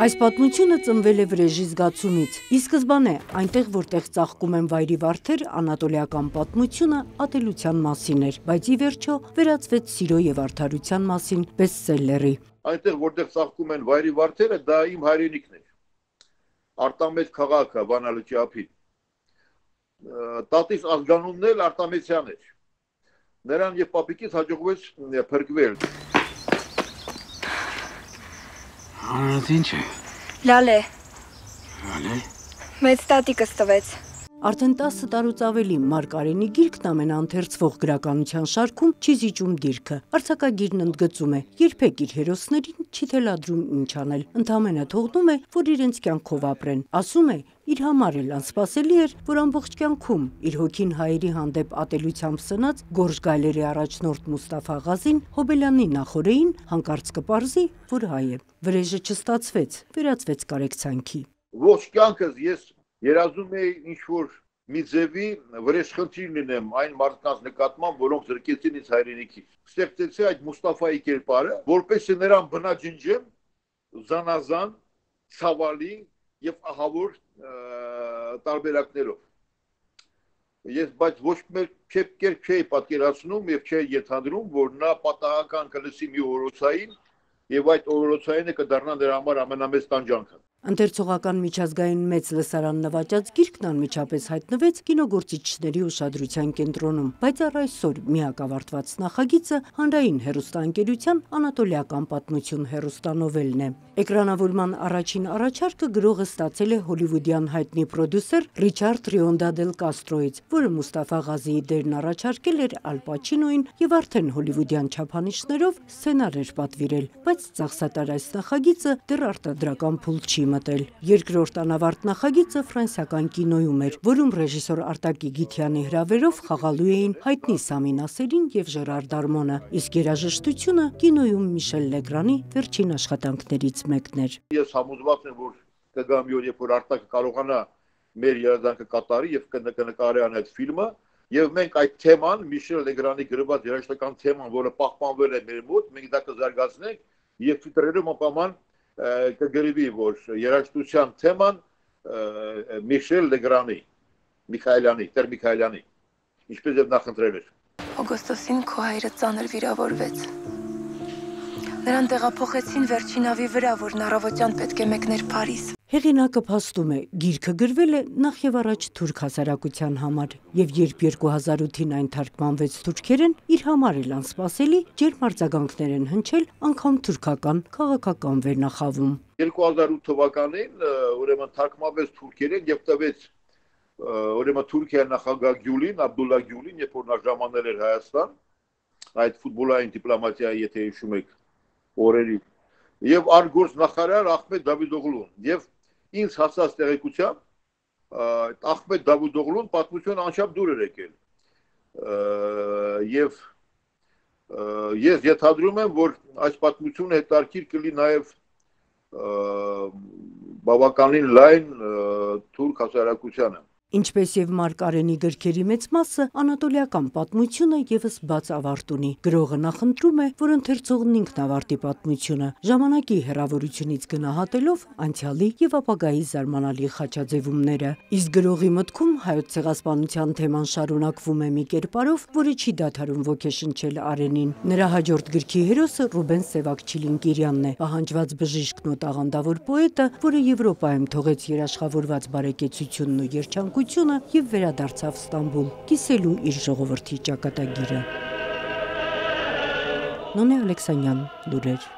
Այս պատմությունը ծնվել է վրեժի զգացումից, ի սկզբանե այնտեղ, որտեղ ծաղկում են վայրի վարդեր, անատոլիական պատմությունը ատելության մասին էր, բայց ի վերջո վերածվեց սիրո եւ արդարության մասին բեսթսելլերի։ Այնտեղ, որտեղ ծաղկում են վայրի վարդերը, դա իմ հայրենիքն էր։ Արտամեծ քաղաքը Վանալուչի ափին։ Տատիս ազգանունն էլ Արտամեցյան էր։ Նրան եւ պապիկից հաջողվեց փրկվել։ Անդ ինչ է։ Լալե։ Լալե։ Մեծ տատիկս տվեց։ Արդեն 10 տարուց ավելի Մարգարենի գիրքն ամենաընթերցվող գրականության շարքում չի զիջում դիրքը։ Արձակագիրն ընդգծում է, երբեք իր հերոսներին չի թելադրում ինչ անել, ընդամենը թողնում է, որ իրենց կյանքով ապրեն։ Ասում է, իր համար էլ անսպասելի էր, որ ամբողջ կյանքում իր հոգին հայերի հանդեպ ատելությամբ սնած գորշ գայլերի առաջնորդ Մուստաֆա Ղազին Հոբելյանի նախօրեին հանկարծ կպարզի, որ հայ է։ Վրեժը չստացվեց, վերածվեց կարեկցանքի։ Ողջ կյանքս ես երազում էի ինչ-որ մի ձևի վրեժխնդիր լինեմ այն մարդկանց նկատմամբ, որոնք զրկեցին ինձ հայրենիքից։ Ստեղծեցի այդ Մուստաֆայի կերպարը, որպեսզի նրան բնաջնջեմ զանազան, ցավալի եւ ահավոր տարբերակներով։ Բայց ոչ մեկ կերպ չէի պատկերացնում եւ չէի ենթադրում, որ նա պատահական կլսի մի օրոցային եւ այդ օրոցայինը կդառնա նրա համար ամենամեծ տանջանքը։ Ընթերցողական միջազգային մեծ լսարան նվաճած գիրքն անմիջապես հայտնվեց կինոգործիչների ուշադրության կենտրոնում, բայց առ այսօր միակ ավարտված նախագիծը հանրային հեռուստաընկերության անատոլիական պատմություն հեռուստանովելն է։ Էկրանավորման առաջին առաջարկը գրողը ստացել է հոլիվուդյան հայտնի պրոդյուսեր Ռիչարդ Ռիոնդա դել Կաստրոից, որը Մուստաֆա Ղազիի դերն առաջարկել էր Ալ Պաչինոին եւ արդեն հոլիվուդյան չափանիշներով սցենար էր պատվիրել, բայց ծախսատար այս նախագիծը դեռ արտադրական փուլ չի մտել։ Երկրորդ անավարտ նախագիծը ֆրանսիական կինոյում էր, որում ռեժիսոր Արտակի Գիթյանի հրավերով խաղալու էին հայտնի Սամի Նասերին եւ Ժերար Դարմոնը, իսկ երաժշտությունը կինոյում Միշել Լեգրանի վերջին աշխատանքներից մեկն էր։ Ես համոզված եմ, որ կգա մի օր, երբ որ Արտակը կարողանա մեր երազանքը կատարի եւ կնկարի այդ ֆիլմը, եւ մենք այդ թեման, Միշել Լեգրանի գրված երաժշտական թեման, որը պահպանվել է մեր մոտ, մենք դա կզարգացնենք եւ ֆիլտրերում ապաման կգրվի, որ երաժշտության թեման Միշել Լեգրանի, Տեր Միքայելյանի, ինչպես եւ նախընտրել էր։ Օգոստոսին քո հայրը ծանր վիրավորվեց։ Նրան տեղափոխեցին վերջին ավի վրա, որն առավոտյան պետք է մեկներ Փարիզ։ Հեղինակը փաստում է, գիրքը գրվել է նախ եւ առաջ թուրք հասարակության համար, եւ երբ 2008-ին այն թարգմանվեց թուրքերեն, իր համար էլ անսպասելի ջերմ արձագանքներ են հնչել անգամ թուրքական քաղաքական վերնախավում։ 2008 թվականին ուրեմն թարգմանվեց թուրքերեն եւ տվեց ուրեմն Թուրքիայի նախագահ Գյուլին, Աբդուլլա Գյուլին, երբ որ նա ժամանել էր Հայաստան, այդ ֆուտբոլային դիպլոմատիայի, եթե հիշում եք, օրերի, եւ արգործ նախարար Ախմեդ Դավիդօղլուն, եւ ինձ հասած տեղեկությամբ Ախմեդ Դավիդօղլուն պատմությունը անչափ դուր էր եկել։ Եվ ես ենթադրում եմ, որ այս պատմությունը հետաքրքիր կլինի նաեւ բավականին լայն թուրք հասարակությանը։ Ինչպես եւ Մարգարենի գրքերի մեծ մասը, անատոլիական պատմությունը եւս բաց ավարտ ունի։ Գրողը նախընտրում է, որ ընթերցողն ինքն ավարտի պատմությունը, ժամանակի հեռավորությունից գնահատելով անցյալի եւ ապագայի զարմանալի խաչաձևումները։ Իսկ գրողի մտքում հայոց ցեղասպանության թեման շարունակվում է մի կերպարով, որը չի դադարում ոգեշնչել Արենին։ Նրա հաջորդ գրքի հերոսը Ռուբեն Սևակ Չիլինգիրյանն է, պահանջված բժիշկն ու տաղանդավոր պոետը, որը Եվրոպայում թողեց երաշխավորված բարեկեցությունն ու երջանկությունը եւ վերադարձավ Ստամբուլ, կիսելու իր ժողովրդի ճակատագիրը։ Նոնե Ալեքսանյան, լուրեր։